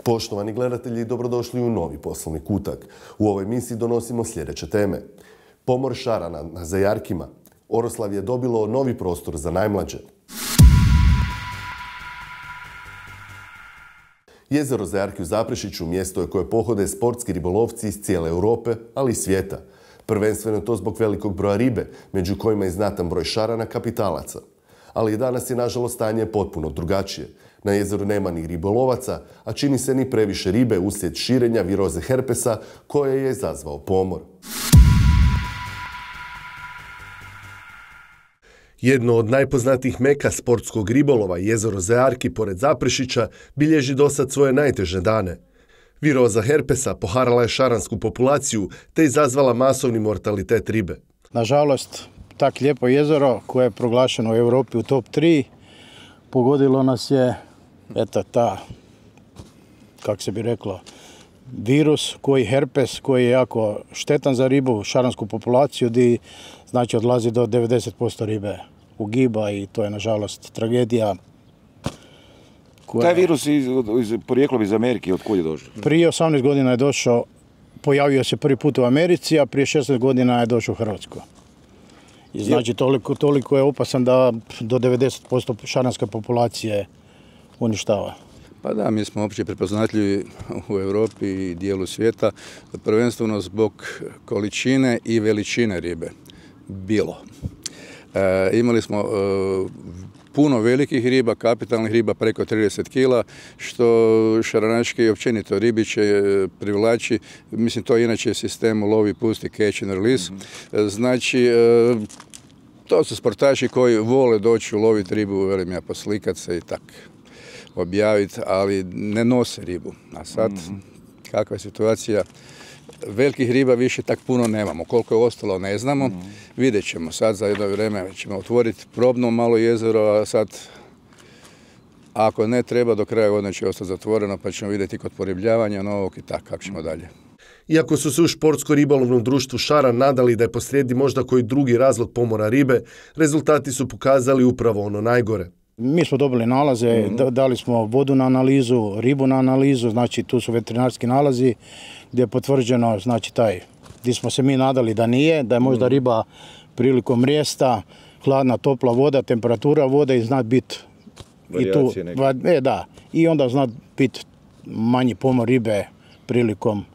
Poštovani gledatelji, dobrodošli u novi poslovni kutak. U ovoj emisiji donosimo sljedeće teme. Pomor šarana na Zajarkima. Oroslavje je dobilo novi prostor za najmlađe. Jezero Zajarki u Zaprešiću mjesto je koje pohode sportski ribolovci iz cijele Europe, ali i svijeta. Prvenstveno to zbog velikog broja ribe, među kojima je znatan broj šarana kapitalaca. Ali i danas je nažalost stanje potpuno drugačije. Na jezeru nema ni ribolovaca, a čini se ni previše ribe uslijed širenja viroze herpesa koje je izazvao pomor. Jedno od najpoznatijih meka sportskog ribolova, jezero Zajarki pored Zaprešića, bilježi dosad svoje najteže dane. Viroza herpesa poharala je šaransku populaciju te izazvala masovni mortalitet ribe. Nažalost, tak lijepo jezero koje je proglašeno u Europi u top 3, pogodilo nas je kako se bi reklo, virus herpes koji je jako štetan za ribu, šaransku populaciju, gdje znači odlazi do 90% ribe ugiba i to je nažalost tragedija. Taj virus porijeklom iz Amerike, od kud je došao? Prije 18 godina je došao, pojavio se prvi put u Americi, a prije 16 godina je došao u Hrvatsku. I znači toliko je opasan da do 90% šaranske populacije uništava. Pa da, mi smo opće prepoznatljivi u Europi i dijelu svijeta, prvenstveno zbog količine i veličine ribe. Imali smo puno velikih riba, kapitalnih riba preko 30 kila, što šaranaški i općenito ribiće privlači. Mislim, to je inače sistem lovi, pusti, catch and release. Znači, to su sportaši koji vole doći uloviti ribu, velim ja, poslikat se i tak objaviti, ali ne nose ribu. A sad, kakva je situacija? Velikih riba više tak puno nemamo. Koliko je ostalo ne znamo. Vidjet ćemo. Sad za jedno vrijeme ćemo otvoriti probno malo jezero, a sad ako ne treba do kraja godine će ostati zatvoreno, pa ćemo vidjeti kod poribljavanja novog i tako kako ćemo dalje. Iako su se u športsko-ribolovnom društvu Šaran nadali da je posrijedi možda koji drugi razlog pomora ribe, rezultati su pokazali upravo ono najgore. Mi smo dobili nalaze, dali smo vodu na analizu, ribu na analizu, znači tu su veterinarski nalazi gdje je potvrđeno, znači gdje smo se mi nadali da nije, da je možda riba prilikom mrijesta, hladna, topla voda, temperatura vode i zna biti i onda zna biti manji pomor ribe prilikom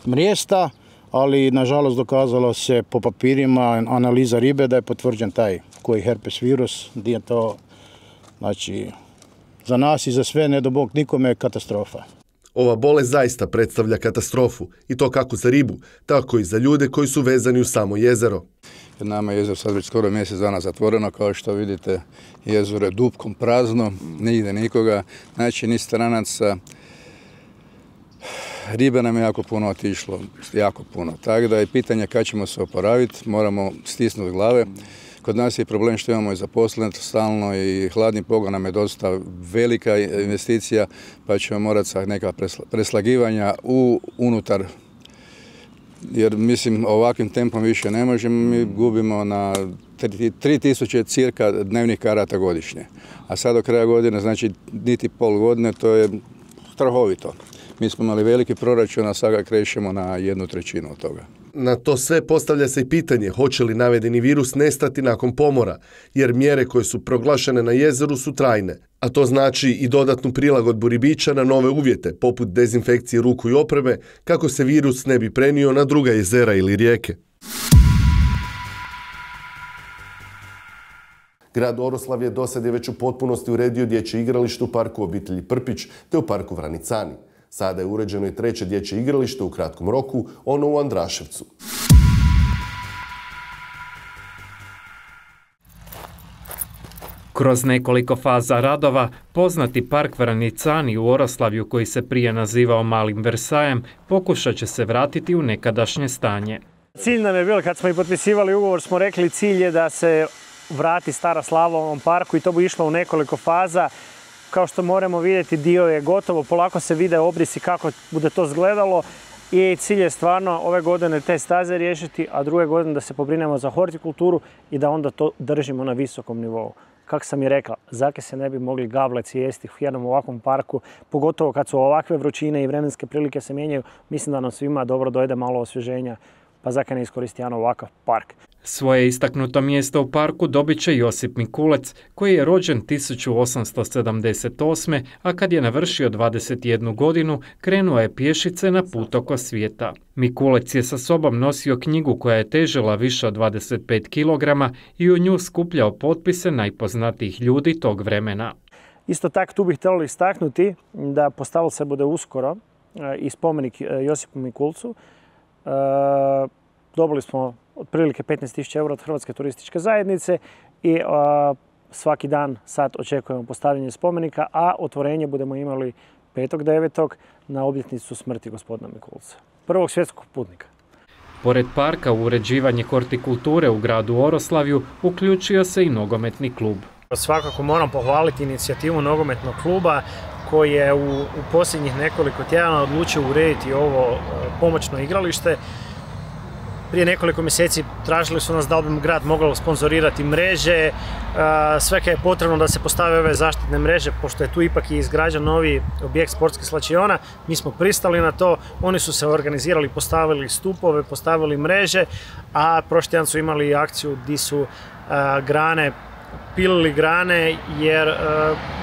mrijesta, ali nažalost dokazalo se po papirima analiza ribe da je potvrđen taj koji herpes virus, gdje je to, znači, za nas i za sve, ne do Bog nikome, katastrofa. Ova bolest zaista predstavlja katastrofu, i to kako za ribu, tako i za ljude koji su vezani u samo jezero. Nama je jezero sad već skoro mjesec dana zatvoreno, kao što vidite, jezero je dupkom prazno, ne ide nikoga, znači ni stranaca. Ribe nam je jako puno otišlo, jako puno, tako da je pitanje kad ćemo se oporaviti, moramo stisnuti glave. Kod nas je problem što imamo i zaposlenost stalno i hladni pogon nam je dosta velika investicija, pa ćemo morati sa neka preslagivanja unutar, jer mislim ovakvim tempom više ne možemo, mi gubimo na 3000 cirka dnevnih karata godišnje. A sad do kraja godine, znači niti pol godine, to je strahovito. Mi smo imali veliki proračun, a sada krećemo na 1/3 od toga. Na to sve postavlja se i pitanje hoće li navedeni virus nestati nakon pomora, jer mjere koje su proglašene na jezeru su trajne, a to znači i dodatnu prilagodbu ribiča na nove uvjete, poput dezinfekcije ruku i opreme, kako se virus ne bi prenio na druga jezera ili rijeke. Grad Oroslavje dosad je već u potpunosti uredio dječje igralište u parku obitelji Prpić te u parku Vranicani. Sada je uređeno i treće dječje igralište u kratkom roku, ono u Andraševcu. Kroz nekoliko faza radova, poznati park Vranicani u Oroslavju, koji se prije nazivao Malim Versajem, pokušat će se vratiti u nekadašnje stanje. Cilj nam je bilo, kad smo i potpisivali ugovor, smo rekli cilj je da se vrati stara slava u ovom parku i to bi išlo u nekoliko faza. Kao što moramo vidjeti, dio je gotovo, polako se vide obrisi kako bude to izgledalo i cilj je stvarno ove godine te staze riješiti, a druge godine da se pobrinemo za hortikulturu i da onda to držimo na visokom nivou. kako sam i rekla, zake se ne bi mogli gableci jesti u jednom ovakvom parku, pogotovo kad su ovakve vrućine i vremenske prilike se mijenjaju. Mislim da nam svima dobro dojde malo osvježenja, pa zake ne iskoristi jedan ovakav park. Svoje istaknuto mjesto u parku dobit će Josip Mikulec, koji je rođen 1878. a kad je navršio 21 godinu, krenuo je pješice na put oko svijeta. Mikulec je sa sobom nosio knjigu koja je težila više od 25 kg i u nju skupljao potpise najpoznatijih ljudi tog vremena. Isto tako tu bih htjeli istaknuti da postavilo se bude uskoro i spomenik Josipu Mikulcu. Dobili smo otprilike 15.000 eura od Hrvatske turističke zajednice i svaki dan sad očekujemo postavljanje spomenika, a otvorenje budemo imali 5.9. na obljetnicu smrti gospodina Mikulca, prvog svjetskog putnika. Pored parka u uređivanje hortikulture u gradu Oroslavju uključio se i nogometni klub. Svakako moram pohvaliti inicijativu nogometnog kluba koji je u posljednjih nekoliko tjedana odlučio urediti ovo pomoćno igralište. Prije nekoliko mjeseci tražili su nas da li bi grad mogao sponzorirati mreže, sve je potrebno da se postave ove zaštitne mreže, pošto je tu ipak i izgrađen novi objekt sportskih slačiona. Mi smo pristali na to, oni su se organizirali, postavili stupove, postavili mreže, a prošli tjedan su imali akciju gdje su pilili grane jer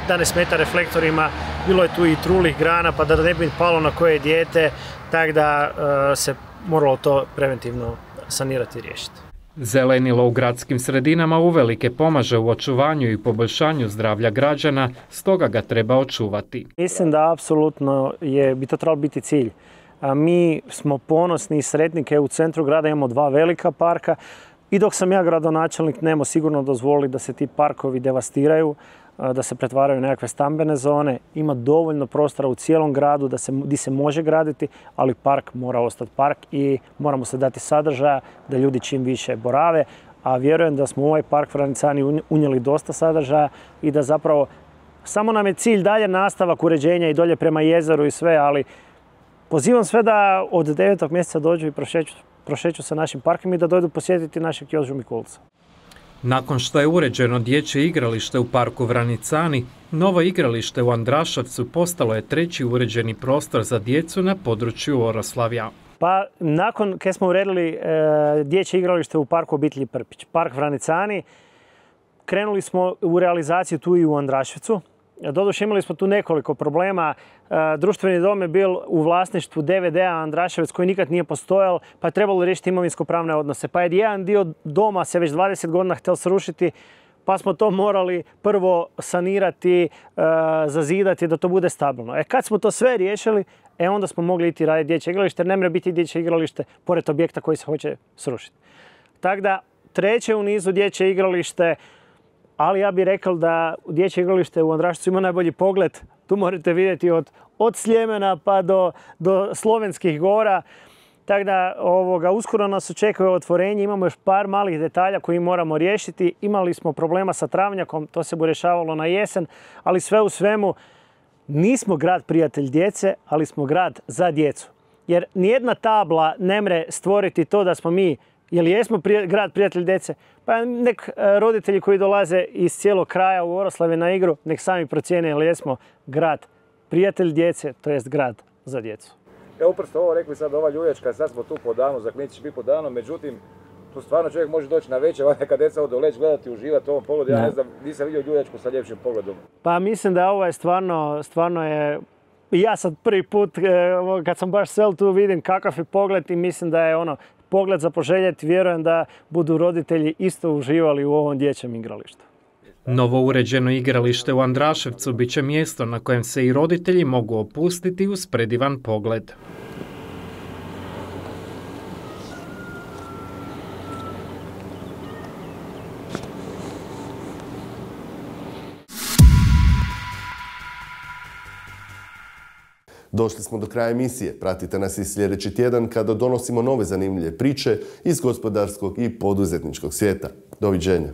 da ne smeta reflektorima, bilo je tu i trulih grana pa da ne bi palo na koje dijete, tako da se moralo to preventivno sanirati i riješiti. Zelenilo u gradskim sredinama uvelike pomaže u očuvanju i poboljšanju zdravlja građana, stoga ga treba očuvati. Mislim da apsolutno bi to trebalo biti cilj. Mi smo ponosni i sretnike, u centru grada imamo 2 velika parka i dok sam ja gradonačelnik nemo sigurno dozvoliti da se ti parkovi devastiraju, da se pretvaraju u nekakve stambene zone. Ima dovoljno prostora u cijelom gradu gdje se može graditi, ali park mora ostati park i moramo se dati sadržaja da ljudi čim više borave. A vjerujem da smo u ovaj park Vranicani unijeli dosta sadržaja i da zapravo samo nam je cilj dalje nastavak uređenja i dolje prema jezeru i sve, ali pozivam sve da od 9. mjeseca dođu i prošeću sa našim parkom i da dođu posjetiti našeg Jožu Mikulca. Nakon što je uređeno dječje igralište u parku Vranicani, novo igralište u Andraševcu postalo je 3. uređeni prostor za djecu na području Oroslavja. Pa nakon kad smo uredili dječje igralište u parku obitelji Prpić, park Vranicani, krenuli smo u realizaciju tu i u Andraševcu. Doduše imali smo tu nekoliko problema. Društveni dom je bil u vlasništvu DVD-a Andraševec koji nikad nije postojal, pa je trebalo riješiti imovinsko-pravne odnose. Pa je jedan dio doma se već 20 godina htjel srušiti, pa smo to morali prvo sanirati, zazidati da to bude stabilno. Kad smo to sve riješili, onda smo mogli iti raditi dječje igralište, jer ne mora biti dječje igralište pored objekta koji se hoće srušiti. Tako da 3. u nizu dječje igralište, ali ja bih rekao da dječje igralište u Andraševcu ima najbolji pogled. Tu možete vidjeti od Sljemena pa do Slovenskih gora. Tako da uskoro nas očekuje otvorenje. Imamo još par malih detalja koji moramo riješiti. Imali smo problema sa travnjakom, to se bude rješavalo na jesen, ali sve u svemu nismo grad prijatelj djece, ali smo grad za djecu. Jer nijedna tabla ne mre stvoriti to da smo mi, jel jesmo grad prijatelj djece, pa nek roditelji koji dolaze iz cijelog kraja u Oroslavje na igru, nek sami procijene jel jesmo grad prijatelj djece, to jest grad za djecu. Ja upravo ovo rekli sad ova ljuljačka, sad smo tu po danu, za klinici će biti po danu, međutim, tu stvarno čovjek može doći na večer, kad djeca odu leći, gledati, uživati u ovom pogledu. Ja ne znam, nisam vidio ljuljačku sa ljepšim pogledom. Pa mislim da ovo je stvarno je, ja sad prvi put kad sam baš sel tu vidim kakav je pogled i mislim da je pogled za poželjeti, vjerujem da budu roditelji isto uživali u ovom dječjem igralištu. Novo uređeno igralište u Andraševcu bit će mjesto na kojem se i roditelji mogu opustiti uz predivan pogled. Došli smo do kraja emisije. Pratite nas i sljedeći tjedan kada donosimo nove zanimljive priče iz gospodarskog i poduzetničkog svijeta. Doviđenja.